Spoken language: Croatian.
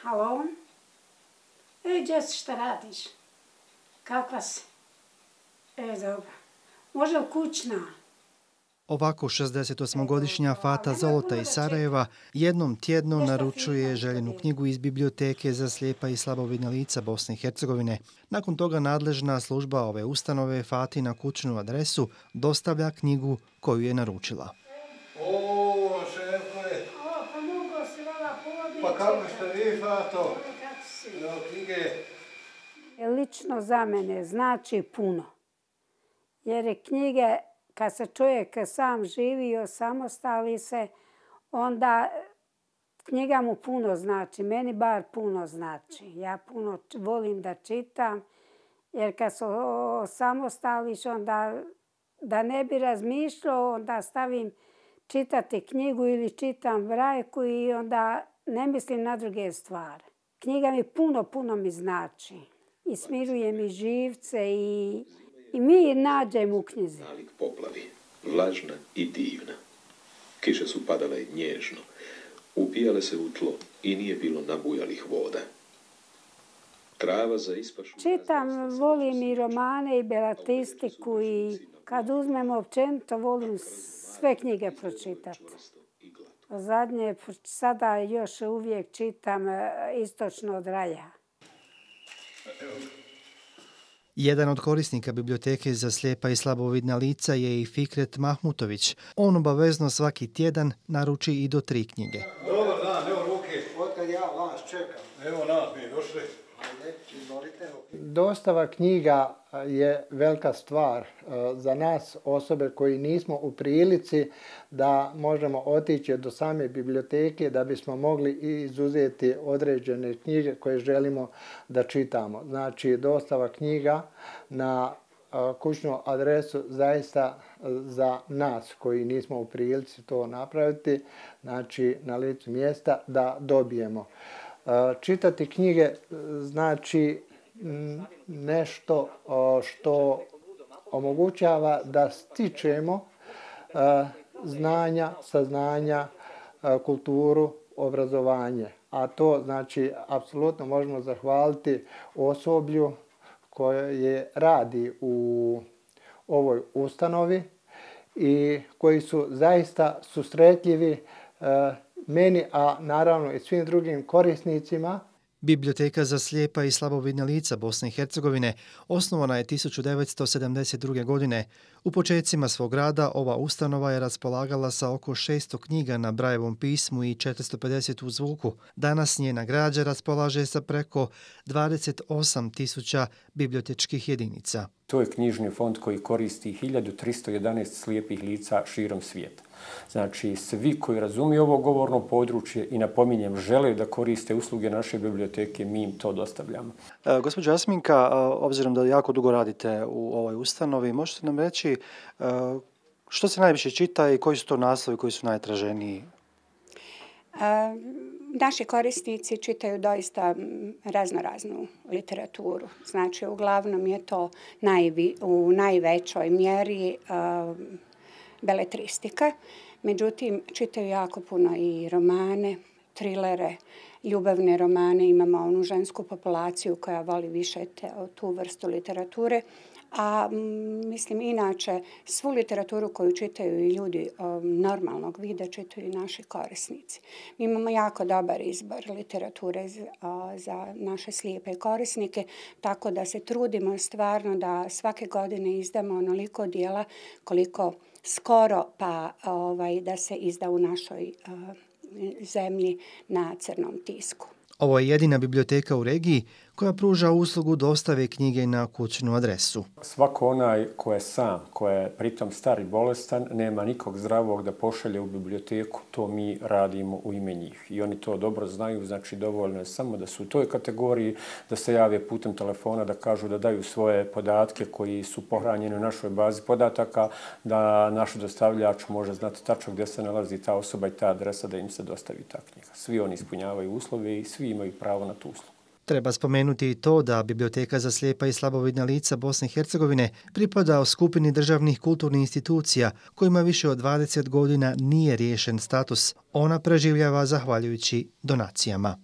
Halo? Gdje si, šta radiš? Kakva si? Dobro. Može li kućna? Ovako 68-godišnja Fata Zolota iz Sarajeva jednom tjedno naručuje željenu knjigu iz biblioteke za slijepa i slabovidna lica Bosne i Hercegovine. Nakon toga nadležna služba ove ustanove Fati na kućnu adresu dostavlja knjigu koju je naručila. O, šefove! Pa mogo si vala pobiti. Pa kako ste vi, Fato? Kako si? Evo knjige. Lično za mene znači puno. Jer je knjige, kad se čovjek sam živi i osamostali se, onda knjiga mu puno znači. Meni bar puno znači. Ja puno volim da čitam, jer kad se osamostališ, onda da ne bi razmišljao, onda stavim čitati knjigu ili čitam brajku i onda ne mislim na druge stvari. Knjiga mi puno mi znači. I smiruje mi živce i mir nađem u knjizi. Nalik poplavi, vlažna i divna. Kiše su padale nježno, upijale se u tlo i nije bilo nabujalih voda. Trava za ispašu... Čitam, volim i romane i belatistiku i kad uzmem općenito volim sve knjige pročitati. Zadnje, sada još uvijek čitam Istočno od raja. Jedan od korisnika biblioteke za slijepa i slabovidna lica je i Fikret Mahmutović. On obavezno svaki tjedan naruči i do 3 knjige. Dobar dan, evo ruke. Otkad ja vas čekam. Evo nas, mi došli. Ajde, izvolite. Dostava knjiga je velika stvar za nas, osobe koji nismo u prilici da možemo otići do same biblioteke da bismo mogli izuzeti određene knjige koje želimo da čitamo. Znači, dostava knjiga na kućnu adresu zaista za nas koji nismo u prilici to napraviti, znači na licu mjesta da dobijemo. Čitati knjige znači nešto što omogućava da stičemo znanja, saznanja, kulturu, obrazovanje. A to znači apsolutno možemo zahvaliti osoblju koje radi u ovoj ustanovi i koji su zaista susretljivi meni, a naravno i svim drugim korisnicima. Biblioteka za slijepa i slabovidna lica Bosne i Hercegovine osnovana je 1972. godine. U početcima svog rada ova ustanova je raspolagala sa oko 600 knjiga na Brajevom pismu i 450 u zvuku. Danas njena građa raspolaže sa preko 28.000 bibliotečkih jedinica. To je knjižni fond koji koristi 1311 slijepih lica širom svijeta. Znači, svi koji razumiju ovo govorno područje i napominjem žele da koriste usluge naše biblioteke, mi im to dostavljamo. Gospođo Jasminka, obzirom da jako dugo radite u ovoj ustanovi, možete nam reći što se najviše čita i koji su to naslovi koji su najtraženiji? Naši korisnici čitaju doista raznoraznu literaturu. Znači, uglavnom je to u najvećoj mjeri beletristika. Međutim, čitaju jako puno i romane, trilere, ljubavne romane. Imamo onu žensku populaciju koja voli više tu vrstu literature. A mislim, inače, svu literaturu koju čitaju i ljudi normalnog vida čitaju i naši korisnici. Mi imamo jako dobar izbor literature za naše slijepe korisnike, tako da se trudimo stvarno da svake godine izdamo onoliko dijela koliko skoro pa da se izda u našoj zemlji na crnom tisku. Ovo je jedina biblioteka u regiji koja pruža uslugu dostave knjige na kućnu adresu. Svako onaj ko je sam, ko je pritom star i bolestan, nema nikog zdravog da pošalje u biblioteku, to mi radimo u ime njih. I oni to dobro znaju, znači dovoljno je samo da su u toj kategoriji, da se jave putem telefona, da kažu da daju svoje podatke koji su pohranjeni u našoj bazi podataka, da naš dostavljač može znati tačno gdje se nalazi ta osoba i ta adresa da im se dostavi ta knjiga. Svi oni ispunjavaju uslove i svi imaju pravo na tu uslugu. Treba spomenuti i to da Biblioteka za slijepa i slabovidna lica Bosne i Hercegovine pripada skupini državnih kulturnih institucija kojima više od 20 godina nije riješen status. Ona preživljava zahvaljujući donacijama.